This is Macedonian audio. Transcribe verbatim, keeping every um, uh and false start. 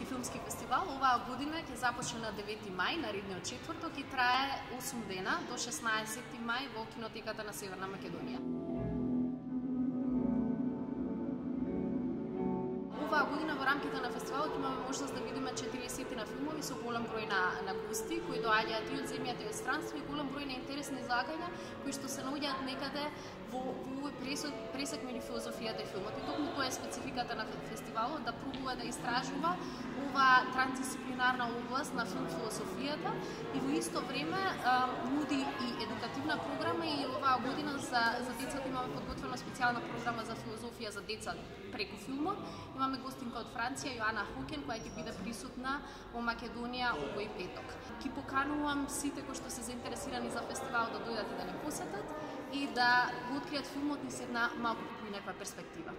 Македонски филмски фестивал оваа година ќе започне на девети мај, наредниот четврток, и трае осум дена до шеснаесетти мај во кинотеката на Северна Македонија. Оваа година во рамките на фестивалот имаме можност да видиме четириесет на филмови со голем број на, на гости кои доаѓаат и од земјата и од странство, и голем број на интересни излагања кои што се наоѓаат некаде во, во овој пресек, пресек меѓу филозофијата и филмот. И токму тоа е спецификата на фестивалот, да пробува да истражува оваа трансдисциплинарна област на филм философијата и во исто време а, нуди и едукативна програма. И оваа година за, за децата имаме подготвена специјална програма за филозофија за деца преку филмот. Имаме гостинка од Франција, Јоана Хукен, која ќе биде присутна во Македонија овој петок. Ки поканувам сите кои што се заинтересирани за фестивал да дојдат и да не посетат и да го откријат филмот низ една малку поинаква перспектива.